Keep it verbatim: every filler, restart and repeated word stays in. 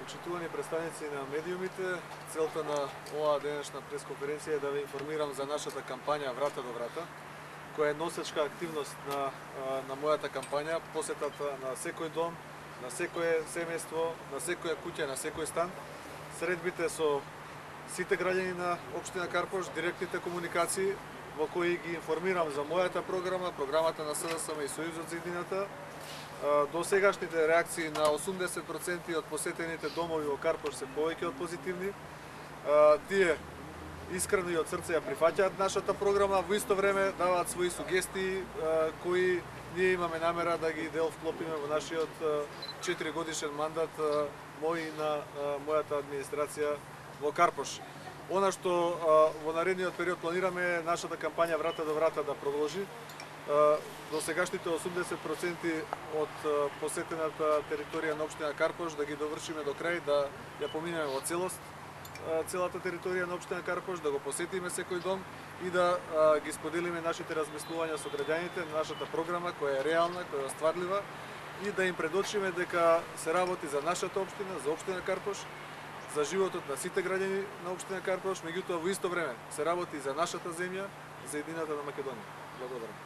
Почитувани представници на медиумите, целта на оваа денешна пресконференција е да ве информирам за нашата кампања Врата до врата, која е носечка активност на, на мојата кампања, посетата на секој дом, на секое семејство, на секоја куќа, на секој стан, средбите со сите граѓани на општина Карпош, директните комуникации во кои ги информирам за мојата програма, програмата на СДСМ и Сојузот за иднината. До сегашните реакции на осумдесет проценти од посетените домови во Карпош се повеќе од позитивни. Тие искрено и од срце ја прифаќаат нашата програма, во исто време даваат своји сугестии кои ние имаме намера да ги дел вклопиме во нашиот четири годишен мандат мој и на мојата администрација во Карпош. Она што во наредниот период планираме е нашата кампања Врата до врата да продолжи. До сегашните осумдесет проценти од посетената територија на општина Карпош да ги довршиме до крај, да ја поминеме во целост целата територија на општина Карпош, да го посетиме секој дом и да ги споделиме нашите размислувања со граѓаните, нашата програма која е реална, која е остварлива и да им предочиме дека се работи за нашата општина, за општина Карпош, за животот на сите граѓани на општина Карпош, меѓутоа во исто време се работи за нашата земја, за едината на Македонија. Благодарам.